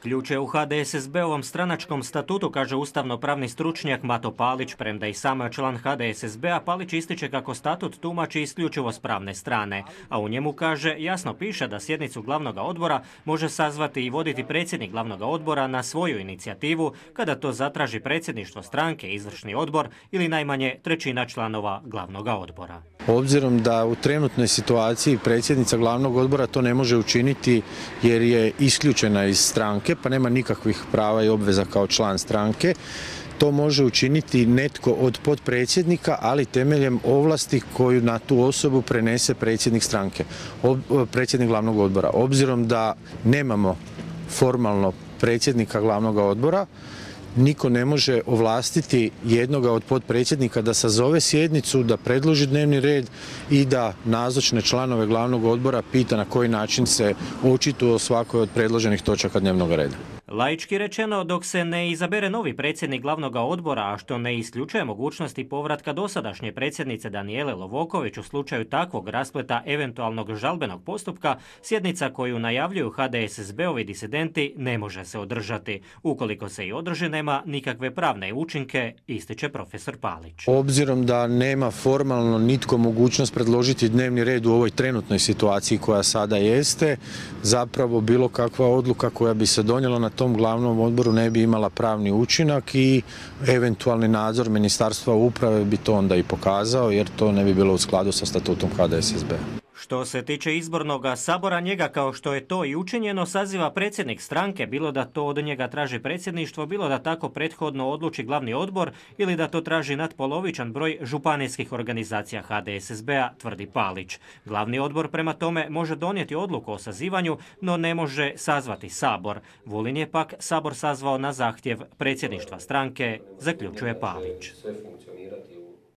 Ključ je u HDSSB-ovom stranačkom statutu, kaže ustavno-pravni stručnjak Mato Palić. Premda i sam je član HDSSB-a, Palić ističe kako statut tumači isključivo s pravne strane. A u njemu, kaže, jasno piše da sjednicu glavnog odbora može sazvati i voditi predsjednik glavnog odbora na svoju inicijativu kada to zatraži predsjedništvo stranke, izvršni odbor ili najmanje trećina članova glavnog odbora. Obzirom da u trenutnoj situaciji predsjednica glavnog odbora to ne može učiniti jer je isključena iz stranke, pa nema nikakvih prava i obveza kao član stranke, to može učiniti netko od potpredsjednika, ali temeljem ovlasti koju na tu osobu prenese predsjednik stranke, predsjednik glavnog odbora. Obzirom da nemamo formalno predsjednika glavnog odbora, niko ne može ovlastiti jednoga od potpredsjednika da sazove sjednicu, da predloži dnevni red i da nazočne članove glavnog odbora pita na koji način se očituju o svakoj od predloženih točaka dnevnog reda. Laički rečeno, dok se ne izabere novi predsjednik glavnog odbora, a što ne isključuje mogućnosti povratka dosadašnje predsjednice Danijele Lovoković u slučaju takvog raspleta eventualnog žalbenog postupka, sjednica koju najavljuju HDSSB-ovi disidenti ne može se održati. Ukoliko se i održi, nema nikakve pravne učinke, ističe profesor Palić. Obzirom da nema formalno nitko mogućnost predložiti dnevni red u ovoj trenutnoj situaciji koja sada jeste, zapravo bilo kakva odluka koja bi se donijela na tom glavnom odboru ne bi imala pravni učinak i eventualni nadzor Ministarstva uprave bi to onda i pokazao, jer to ne bi bilo u skladu sa statutom HDSSB-a. Što se tiče izbornog sabora, njega, kao što je to i učinjeno, saziva predsjednik stranke, bilo da to od njega traži predsjedništvo, bilo da tako prethodno odluči glavni odbor ili da to traži nadpolovičan broj županijskih organizacija HDSSB-a, tvrdi Palić. Glavni odbor prema tome može donijeti odluku o sazivanju, no ne može sazvati sabor. Vulin je pak sabor sazvao na zahtjev predsjedništva stranke, zaključuje Palić.